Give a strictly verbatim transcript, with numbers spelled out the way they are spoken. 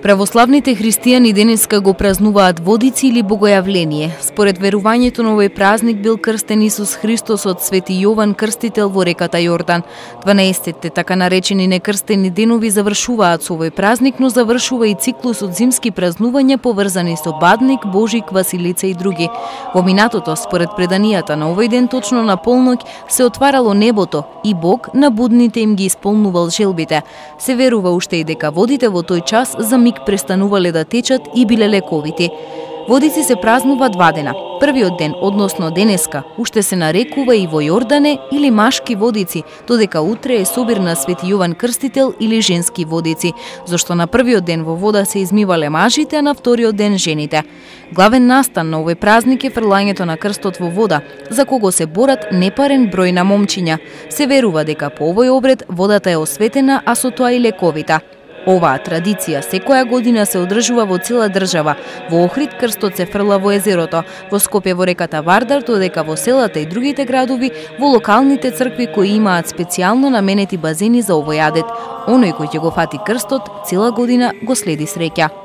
Православните христијани денеска го празнуваат Водици или Богојавление. Според верувањето на овој празник бил крстен Исус Христос од Свети Јован Крстител во реката Јордан. дванаесетте така наречени некрстени денови завршуваат со овој празник, но завршува и циклусот зимски празнувања поврзани со Бадник, Божик, Василица и други. Во минатото, според преданијата, на овој ден точно на полноќ се отварало небото и Бог на будните им ги исполнувал желбите. Се верува уште и дека водите во тој час за миг престанувале да течат и биле лековити. Водици се празнува два дена. Првиот ден, односно денеска, уште се нарекува и во Јордане или машки водици, додека утре е собир на Свети Јован Крстител или женски водици, зашто на првиот ден во вода се измивале мажите, а на вториот ден жените. Главен настан на овој празник е фрлањето на крстот во вода, за кого се борат непарен број на момчиња. Се верува дека по овој обред водата е осветена, а со тоа и лековита. Оваа традиција секоја година се одржува во цела држава. Во Охрид крстот се фрла во езерото, во Скопје во реката Вардар, додека во селата и другите градови во локалните цркви кои имаат специјално наменети базени за овој адет. Оној кој ќе го фати крстот, цела година го следи среќа.